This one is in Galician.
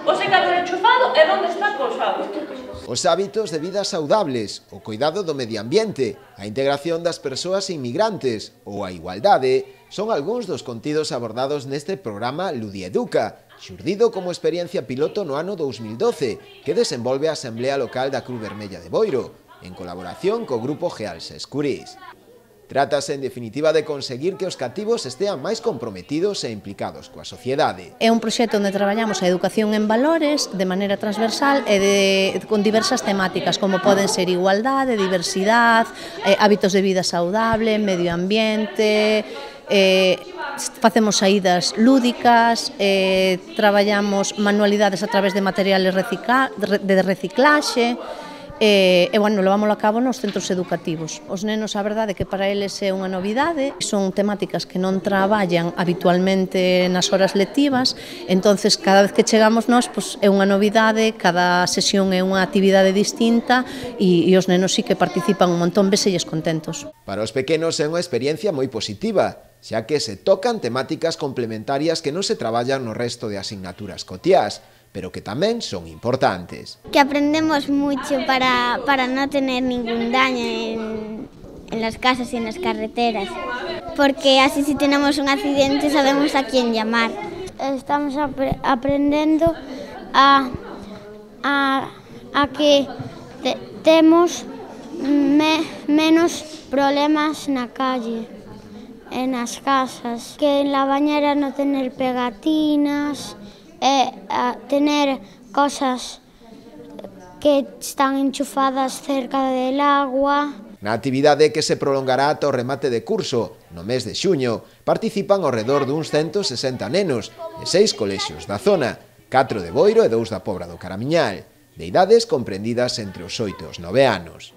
o secador enchufado e onde está colgado. Os hábitos de vida saudables, o cuidado do medio ambiente, a integración das persoas inmigrantes ou a igualdade son algúns dos contidos abordados neste programa Ludieduca, xurdido como experiencia piloto no ano 2012, que desenvolve a Asamblea Local da Cruz Vermella de Boiro, en colaboración co Grupo Gealse Escurís. Trátase, en definitiva, de conseguir que os cativos estean máis comprometidos e implicados coa sociedade. É un proxecto onde traballamos a educación en valores de maneira transversal e con diversas temáticas, como poden ser igualdade, diversidade, hábitos de vida saudable, medio ambiente, facemos saídas lúdicas, traballamos manualidades a través de materiales de reciclaxe, e, bueno, levámoslo a cabo nos centros educativos. Os nenos, a verdade, que para eles é unha novidade, son temáticas que non traballan habitualmente nas horas lectivas, entonces cada vez que chegamos nós, pois, é unha novidade, cada sesión é unha actividade distinta e os nenos sí que participan un montón, veselles contentos. Para os pequenos é unha experiencia moi positiva, xa que se tocan temáticas complementarias que non se traballan no resto de asignaturas cotiás, pero que tamén son importantes. Que aprendemos mucho para no tener ningún daño en las casas y en las carreteras, porque así si tenemos un accidente sabemos a quién llamar. Estamos aprendiendo a que temos menos problemas na calle, en las casas, que en la bañera no tener pegatinas, a tener cosas que están enchufadas cerca del agua. Na actividade que se prolongará ata o remate de curso, no mes de xuño, participan ao redor duns 160 nenos de 6 colexios da zona, 4 de Boiro e 2 da Pobra do Caramiñal, de idades comprendidas entre os 8 e os 9 anos.